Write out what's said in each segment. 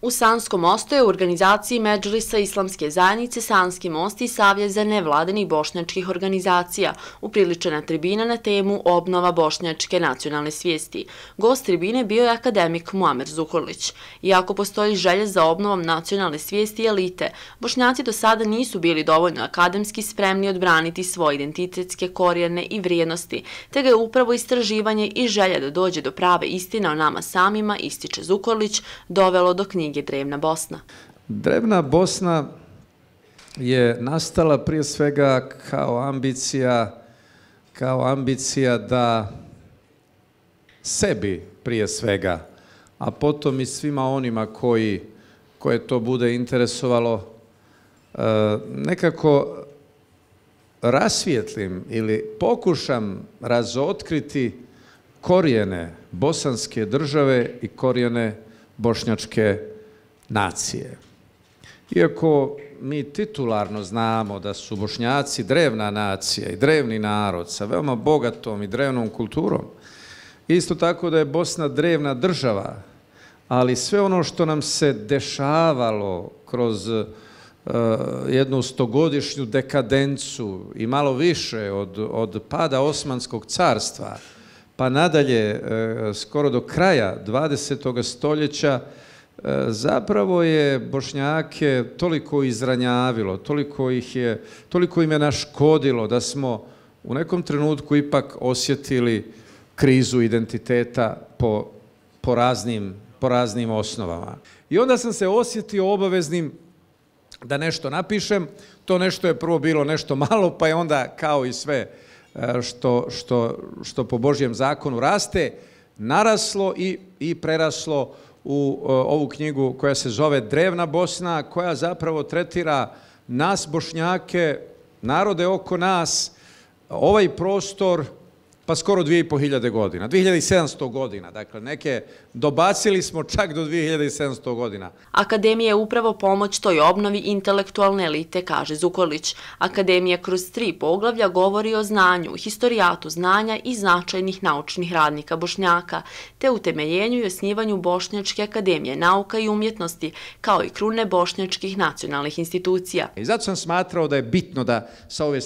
U Sanskom mostu je u organizaciji Medžlisa Islamske zajednice Sanski most i Savjet za nevladinih bošnjačkih organizacija upriličena tribina na temu obnova bošnjačke nacionalne svijesti. Gost tribine bio je akademik Muamer Zukorlić. Iako postoji želja za obnovom nacionalne svijesti i elite, Bošnjaci do sada nisu bili dovoljno akademski spremni odbraniti svoje identitetske korijene i vrijednosti, te ga je upravo istraživanje i želja da dođe do prave istine o nama samima, ističe Zukorlić, dovelo do knjige Drevna Bosna. Drevna Bosna je nastala prije svega kao ambicija da sebi prije svega, a potom i svima onima koje to bude interesovalo, nekako rasvijetlim ili pokušam razotkriti korijene bosanske države i korijene bošnjačke nacije. Iako mi titularno znamo da su Bošnjaci drevna nacija i drevni narod sa veoma bogatom i drevnom kulturom, isto tako da je Bosna drevna država, ali sve ono što nam se dešavalo kroz jednu stogodišnju dekadencu i malo više od pada Osmanskog carstva, pa nadalje skoro do kraja 20. stoljeća, zapravo je Bošnjake toliko izranjavilo, toliko im je naškodilo da smo u nekom trenutku ipak osjetili krizu identiteta po raznim osnovama. I onda sam se osjetio obaveznim da nešto napišem. To nešto je prvo bilo nešto malo, pa je onda kao i sve što po Božjem zakonu raste, naraslo i preraslo u ovu knjigu koja se zove Drevna Bosna, koja zapravo tretira nas Bošnjake, narode oko nas, ovaj prostor, pa skoro 2500 godina, 2700 godina, dakle neke dobacili smo čak do 2700 godina. Akademija je upravo pomoć toj obnovi intelektualne elite, kaže Zukorlić. Akademija kroz 3 poglavlja govori o znanju, historijatu znanja i značajnih naučnih radnika Bošnjaka, te utemeljenju i osnivanju Bošnjačke akademije nauka i umjetnosti, kao i krune bošnjačkih nacionalnih institucija. I zato sam smatrao da je bitno da sa ove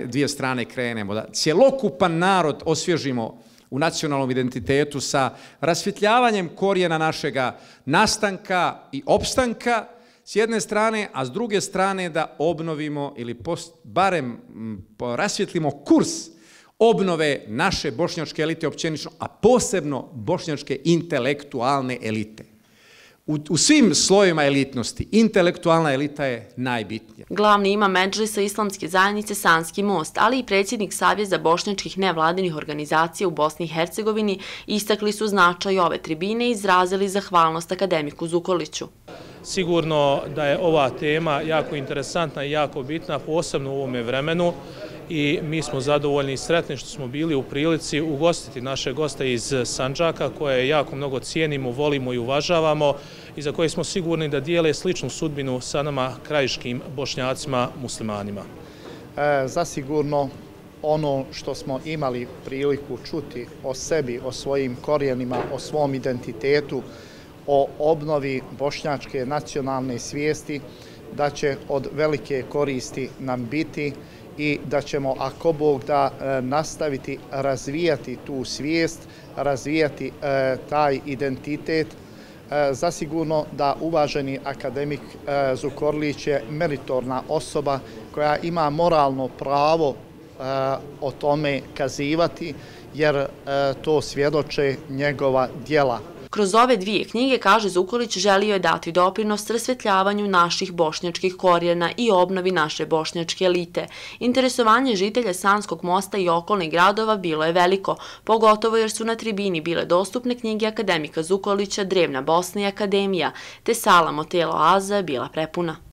dvije strane krenemo, da cjelokupan narod osvježimo u nacionalnom identitetu sa rasvjetljavanjem korijena našega nastanka i opstanka s jedne strane, a s druge strane da obnovimo ili barem rasvjetlimo kurs obnove naše bošnjačke elite općenično, a posebno bošnjačke intelektualne elite. U svim slojevima elitnosti, intelektualna elita je najbitnija. Glavni imam Medžlisa Islamske zajednice Sanski most, ali i predsjednik Savjeza bošnjačkih nevladinih organizacija u Bosni i Hercegovini istakli su značaj ove tribine i izrazili zahvalnost akademiku Zukorliću. Sigurno da je ova tema jako interesantna i jako bitna, posebno u ovome vremenu, i mi smo zadovoljni i sretni što smo bili u prilici ugostiti naše goste iz Sandžaka, koje jako mnogo cijenimo, volimo i uvažavamo i za koje smo sigurni da dijele sličnu sudbinu sa nama krajiškim Bošnjacima muslimanima. Zasigurno ono što smo imali priliku čuti o sebi, o svojim korijenima, o svom identitetu, o obnovi bošnjačke nacionalne svijesti, da će od velike koristi nam biti i da ćemo, ako Bog da, nastaviti razvijati tu svijest, razvijati taj identitet. Zasigurno da uvaženi akademik Zukorlić je meritorna osoba koja ima moralno pravo o tome kazivati, jer to svjedoče njegova djela. Kroz ove 2 knjige, kaže Zukorlić, želio je dati doprinos rasvjetljavanju naših bošnjačkih korijena i obnovi naše bošnjačke elite. Interesovanje žitelja Sanskog mosta i okolnih gradova bilo je veliko, pogotovo jer su na tribini bile dostupne knjige akademika Zukorlića Drevna Bosna i Akademija, te sala Motelo Aza je bila prepuna.